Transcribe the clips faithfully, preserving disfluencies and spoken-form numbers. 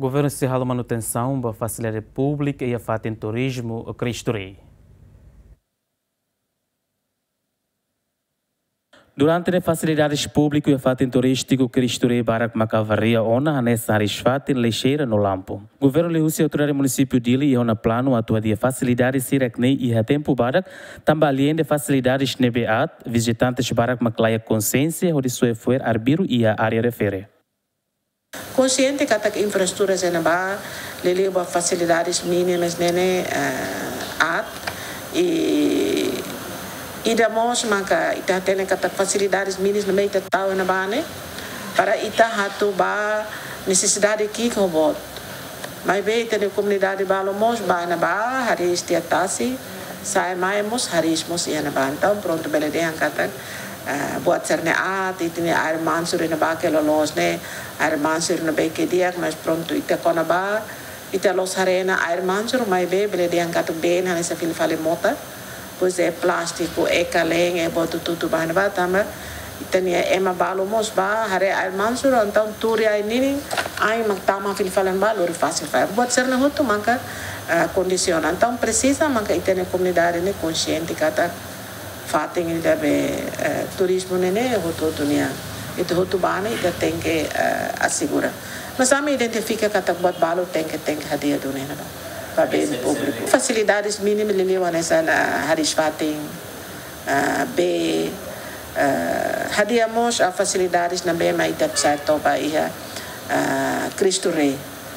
Governu sei halo manutensaun ba fasilidade públika iha fatin turizmu Cristo Rei. Durante ne'e fasilidades públiku iha fatin turístiku Cristo Rei barak maka avaria ona, hanesan hariis-fatin, lixeira no lampu. Governu liuhusi autoridade munisípiu Dili iha ona planu atu hadi'a fasilidade sira-ne'e iha tempu badak, tanba aleinde fasilidades ne'ebé aat, vizitantes barak mak laiha konsiénsia hodi soe fo'er arbiru iha área refere. Konsiente katak infraestrutura sira ne'ebá, liuliu ba fasilidades mínimas ne'e, eh, aat. I ida mós maka ita hatene katak fasilidades mínimas ne'ebé ita tau iha ne'ebá ne'e, para ita atu bá nesesidade ki'ik ho boot. Maibé ita-nia komunidade balu mós bá iha ne'ebá, hariis tiha tasi, sa'e mai mós, hariis mós iha ne'ebá. Entaun, prontu, bele dehan katak, eh, buat sira-ne'e aat, ita-nia air mansur iha ne'ebá ke loloos ne'e, air mansur ne'ebé ke di'ak, mas prontu, ita kona-ba, ita la'ós haree ona air mansur, maibé bele dehan katak been hanesan fila fali mota, depois é plástiku, é kalen, é boot hotu-hotu bá iha ne'ebá, tanba ita-nia ema balu mós bá haree air mansur, entaun tuur iha ain ninin, ain mak tama fila fali iha ne'ebá, lori fasil fali. Buat sira-ne'e hotu maka, ah, kondisiona. Entaun presiza maka ita-nia komunidade ne'e konsiente katak fatin ida be, eh, turizmu ne'e ne'e hotu-hotu nian. Ita hotu bá ne'e ita tenke, eh, asegura. Mas ami identifika katak buat balu tenke, tenke hadi'a duni iha ne'ebá ba been públiku. Fasilidades mínimas liuliu hanesan, ah, hariis-fatin, ah, bee, ah, hadi'a mós, ah, fasilidades ne'ebé mak ita presiza toba iha, ah, Cristo Rei.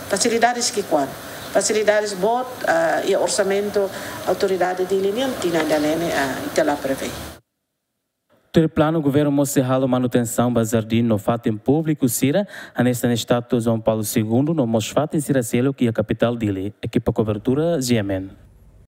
Fasilidades ki'ikoan. Fasilidades boot, ah, iha orsamentu autoridade Dili nian tinan ida-ne'e ne'e, ah, ita la prevee. Tuir planu, governu mós sei halo manutensaun ba jardín no fatin públiku sira, hanesan estátua João Paulo Segundo no mós fatin sira seluk iha kapitál Dili. Ekipa kobertura, G M N.